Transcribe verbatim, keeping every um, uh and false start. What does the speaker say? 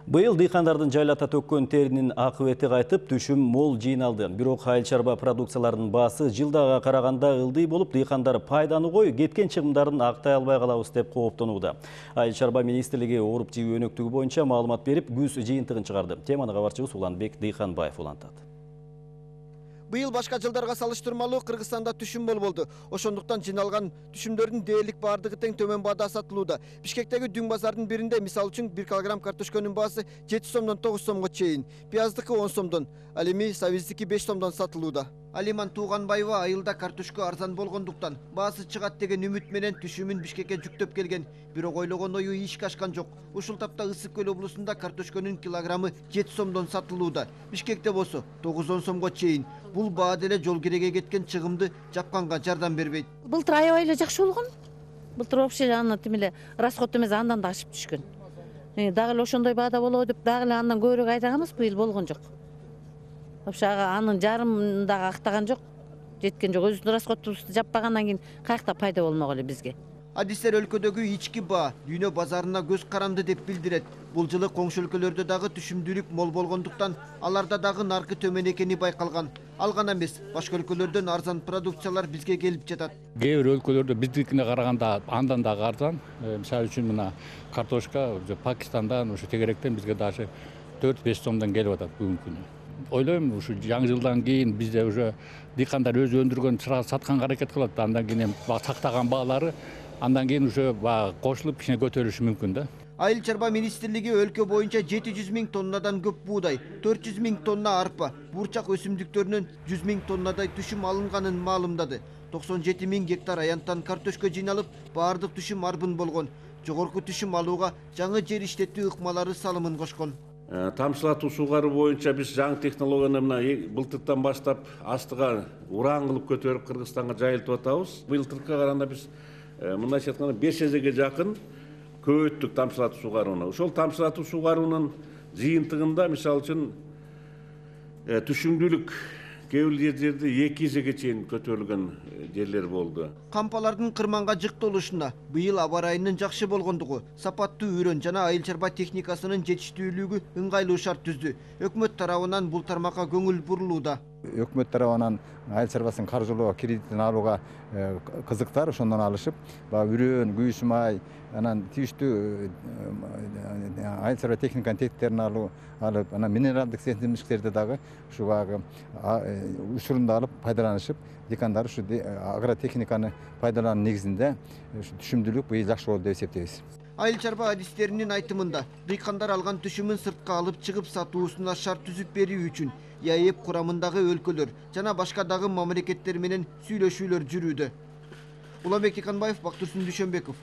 Быйыл дыйкандардын жайлата төккөн теринин акыбети кайтып, түшүм мол жыйналды. Бирок айыл чарба продукцияларынын баасы жылдага караганда ылдый болуп, дыйкандар пайданы кой, кеткен чыгымдарын актай албай калабыз деп кооптонууда. Айыл чарба министрлиги ооруп жөө өнөктүгү боюнча маалымат берип, күз жыйынтыгын чыгарды. Теманы кабарчыбыз Уланбек Дыйканбаев улантат. Быйыл башка жылдарга салыштырмалуу Кыргызстанда түшүм мол болду. Ошондуктан жиналган түшүмдөрдүн дээрлик бардыгы тең төмөн баада сатылууда. Бишкектеги дүң базардын биринде мисалы үчүн бир килограмм картошконун баасы жети сомдон тогуз сомго чейин, пияздыкы он сомдон, ал эми сабиздики беш сомдон сатылууда. Алиман Тууганбаева айылда картошко арзан болгондуктан баасы чыгат деген үмүт менен түшүмүн Бишкекке жүктөп келген. Бирок ойлогон ою ишке ашкан жок. Ушул тапта Ысык көл облусунда картошконун килограммы жети сомдон сатылууда. Бишкекте болсо тогуз он сомго чейин. Бул баа деле жол кереге кеткен чыгымды жапканга жардам бербейт. Былтыр аябай эле жакшы болгон. Былтыр вообще аны тим эле расход эмес андан да ашып түшкөн. Дагы эле ошондой баада болобу деп дагы эле андан көбүрөөк айдаганбыз, быйыл болгон жок. Вообще анын жарымын дагы актаган жок, жеткен жок. Өзүбүздүн расходубузду жаппагандан кийин каякта пайда болмок эле бизге. Адистер өлкөдөгү ички баа дүйнө базарына көз каранды деп билдирет. Бул жылы коңшу өлкөлөрдө дагы түшүмдүүлүк мол болгондуктан аларда дагы наркы төмөн экени байкалган. Ал гана эмес, башка өлкөлөрдөн арзан продукциялар бизге келип жатат. Кээ бир өлкөлөрдө биздикине караганда андан дагы арзан. Мисалы үчүн мына картошка Пакистандан, ошо тегеректен бизге даже төрт беш сомдон келип атат бүгүнкү күнү. Ойлойм, ушу жаңы жылдан кийин бизде уже дыйкандар өзү өндүргөн чырак сатканга аракет кылат. Андан кийин сактаган баалары андан кийин уже кошулуп кичине көтөрүлүшү мүмкүн да. Айыл чарба министрлиги өлкө боюнча жети жүз миң тоннадан көп буудай, төрт жүз миң тонна арпа, бурчак өсүмдүктөрүнөн жүз миң тоннадай түшүм алынганын маалымдады. токсон жети миң гектар аянттан картошко жыйналып, баардык түшүм арбын болгон. Жогорку түшүм алууга жаңы жер иштетүү ыкмалары салымын кошкон. Тамчылатуу суугаруу боюнча биз жаңы технологияны мына былтыртан баштап астыга уран кылып көтөрүп Кыргызстанга жайылтып атабыз. Былтыркыга караганда биз мындайча айтканда беш эсеге жакын көбөйттүк тамчылатуу суугарууну. Ошол тамчылатуу суугаруунун жыйынтыгында мисалы үчүн түшүмдүүлүк кээ бир жерде эки эсеге чейин көтөрүлгөн жерлер болду. Кампалардын кырманга жыктолушуна быйыл аба ырайынын жакшы болгондугу, сапаттуу үрөн жана айыл чарба техникасынын жетиштүүлүгү ыңгайлуу шарт түздү. Өкмөт тарабынан бул тармакка көңүл бурулууда. Өкмөт тарабынан айыл чарбасын каржылоо кредитин алууга кызыктар, ошондон алышып, үрөн, күйүүс май, анан тийиштүү айыл чарба техниканын тетиктерин алуу, алып, анан минералдык сентимдиктерди дагы ушу баягы учурунда алып пайдаланышып, дыйкандар ушу агротехниканы пайдалануу негизинде түшүмдүүлүк быйыл жакшы болду деп эсептейбиз. Айыл чарба адистеринин айтымында, дыйкандар алган түшүмүн сыртка алып чыгып сатуусуна шарт түзүп берүү үчүн ЯЭП курамындагы өлкөлөр жана башка дагы мамлекеттер менен сүйлөшүүлөр жүрүүдө. Уланбек Дыйканбаев, Бактурсун Дүйшөнбеков.